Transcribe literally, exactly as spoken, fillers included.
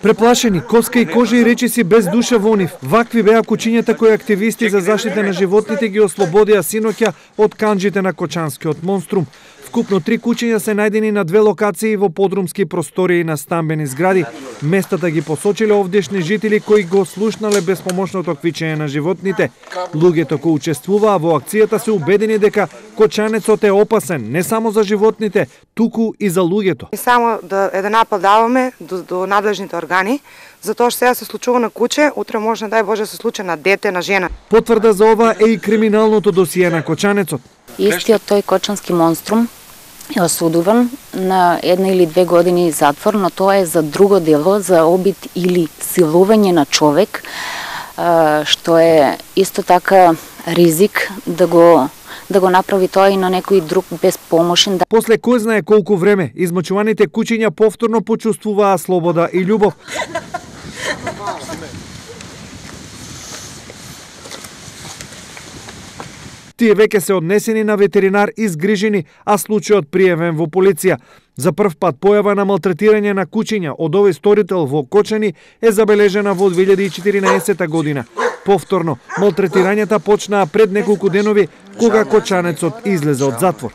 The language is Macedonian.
Преплашени, коска и кожа и речиси без душа во нив. Вакви беа кучињата кои активисти за заштита на животните ги ослободија синоќа од канџите на Кочанскиот монструм. Вкупно три кучиња се најдени на две локации во подрумски простории на стамбени згради. Местата ги посочиле овдешни жители кои го слушнале безпомошното квичење на животните. Луѓето кои учествуваа во акцијата се убедени дека кочанецот е опасен не само за животните, туку и за луѓето. И само да еден апел даваме до, до надлежните органи, затоа што сега се случува на куче, утре може не дај Боже да се случи на дете, на жена. Потврда за ова е и криминалното досие на кочанецот. Истиот тој Кочански монструм е осудуван на една или две години затвор, но тоа е за друго дело, за обид или силување на човек, што е исто така ризик да го да го направи тоа и на некој друг безпомошен. После кој знае колку време, измачуваните кучиња повторно почувствуваа слобода и љубов. Тие веќе се однесени на ветеринар и згрижени, а случајот пријавен во полиција. За прв пат појава на малтретирање на кучиња од овој сторител во Кочани е забележена во две илјади и четиринаесета година. Повторно, малтретирањата почнаа пред неколку денови, кога кочанецот излезе од затвор.